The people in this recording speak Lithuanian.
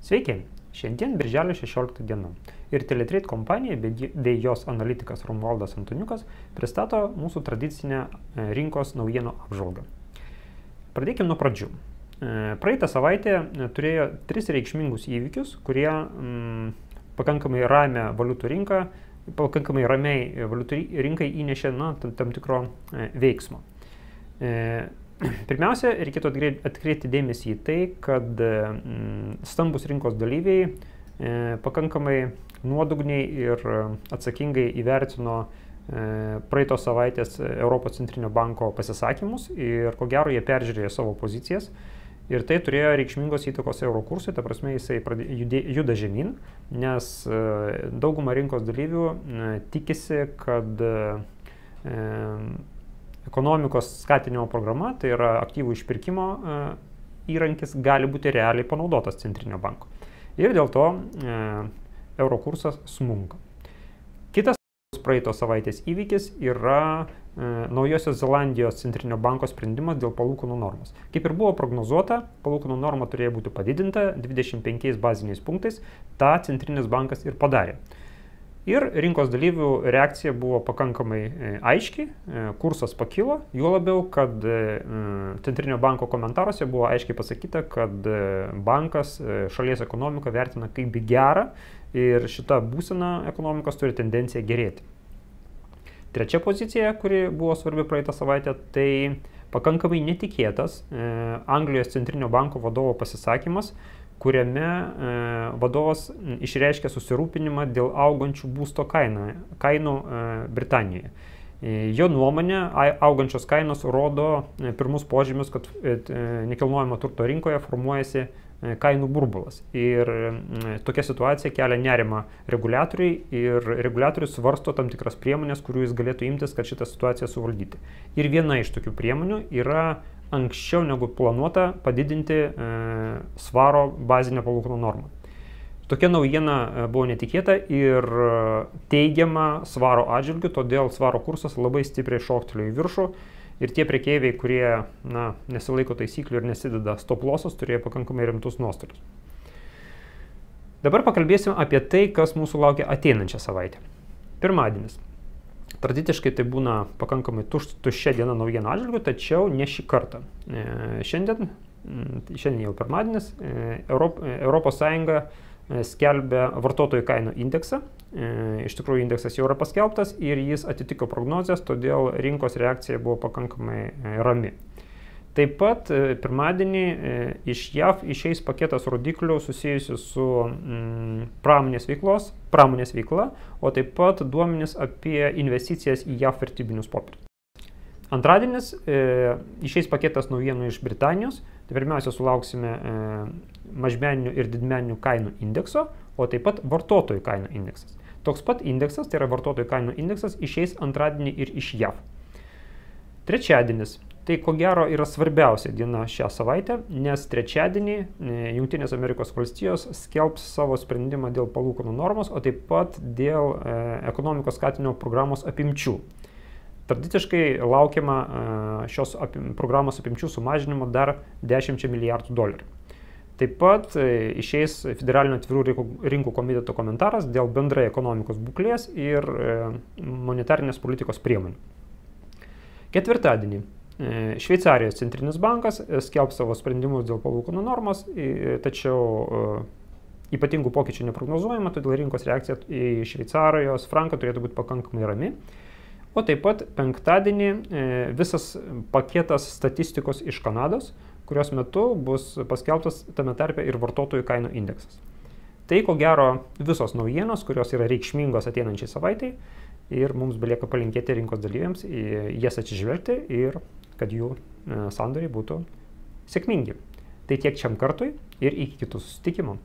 Sveiki, šiandien birželio 16 diena ir Teletrade kompanija bei jos analitikas Romualdas Antoniukas pristato mūsų tradicinę rinkos naujienų apžvalgą. Pradėkime nuo pradžių. Praeitą savaitę turėjo 3 reikšmingus įvykius, kurie pakankamai ramiai valiutų rinkai įnešė tam tikro veiksmo. Pirmiausia, reikėtų atkreipti dėmesį į tai, kad stambus rinkos dalyviai pakankamai nuodugniai ir atsakingai įvertino praeitos savaitės Europos centrinio banko pasisakymus ir ko gero jie peržiūrėjo savo pozicijas ir tai turėjo reikšmingos įtakos euro kursui, ta prasme jisai juda žemyn, nes dauguma rinkos dalyvių tikisi, kad ekonomikos skatinimo programa, tai yra aktyvų išpirkimo įrankis, gali būti realiai panaudotas centrinio banko. Ir dėl to euro kursas smunka. Kitas praeitos savaitės įvykis yra Naujosios Zelandijos centrinio banko sprendimas dėl palūkanų normos. Kaip ir buvo prognozuota, palūkanų norma turėjo būti padidinta 25 baziniais punktais, tą centrinis bankas ir padarė. Ir rinkos dalyvių reakcija buvo pakankamai aiški, kursas pakilo, juo labiau, kad centrinio banko komentaruose buvo aiškiai pasakyta, kad bankas šalies ekonomiką vertina kaip gerą ir šita būsena ekonomikos turi tendenciją gerėti. Trečia pozicija, kuri buvo svarbi praeitą savaitę, tai pakankamai netikėtas Anglijos centrinio banko vadovo pasisakymas, kuriame vadovas išreiškė susirūpinimą dėl augančių būsto kainų Britanijoje. Jo nuomonė, augančios kainos rodo pirmus požymius, kad nekilnojamo turto rinkoje formuojasi kainų burbulas. Ir tokia situacija kelia nerimą reguliatoriai ir reguliatorius svarsto tam tikras priemonės, kurių jis galėtų imtis, kad šitą situaciją suvaldyti. Ir viena iš tokių priemonių yra anksčiau negu planuota padidinti svaro bazinę palūkanų normą. Tokia naujiena buvo netikėta ir teigiama svaro atžvilgiu, todėl svaro kursas labai stipriai šoktelėjo į viršų ir tie prekeiviai, kurie nesilaiko taisyklių ir nesideda stop lossus, turėjo pakankamai rimtus nuostolius. Dabar pakalbėsim apie tai, kas mūsų laukia ateinančią savaitę. Pirmadienis. Tradiciškai tai būna pakankamai tuščia diena naujienų atžvilgiu, tačiau ne šį kartą. Šiandien jau pirmadienis, Europos Sąjunga skelbia vartotojų kainų indeksą. Iš tikrųjų, indeksas jau yra paskelbtas ir jis atitiko prognozes, todėl rinkos reakcija buvo pakankamai rami. Taip pat pirmadienį iš JAV išeis paketas rodiklių susijusių su pramonės veikla, o taip pat duomenys apie investicijas į JAV vertybinius popierius. Antradienis išeis paketas naujienų iš Britanijos, tai pirmiausia sulauksime mažmeninių ir didmeninių kainų indekso, o taip pat vartotojų kainų indeksas. Toks pat indeksas, tai yra vartotojų kainų indeksas, išeis antradienį ir iš JAV. Trečiadienis. Tai ko gero yra svarbiausia diena šią savaitę, nes trečiadienį Jungtinės Amerikos valstijos skelbs savo sprendimą dėl palūkanų normos, o taip pat dėl ekonomikos skatinimo programos apimčių. Tradiciškai laukiama šios programos apimčių sumažinimo dar 10 milijardų dolerių. Taip pat išeis Federalinio atvirų rinkų komiteto komentaras dėl bendrai ekonomikos būklės ir monetarinės politikos priemonių. Ketvirtadienį Šveicarijos centrinis bankas skelbs savo sprendimus dėl palūkanų normos, tačiau ypatingų pokyčių neprognozuojama, todėl rinkos reakcija į Šveicarijos franką turėtų būti pakankamai rami. O taip pat penktadienį visas paketas statistikos iš Kanados, kurios metu bus paskelbtas tame tarpe ir vartotojų kainų indeksas. Tai ko gero visos naujienos, kurios yra reikšmingos ateinančiai savaitai ir mums belieka palinkėti rinkos dalyviams jas atsižvelgti ir kad jų sandoriai būtų sėkmingi. Tai tiek šiam kartui ir iki kitų susitikimų.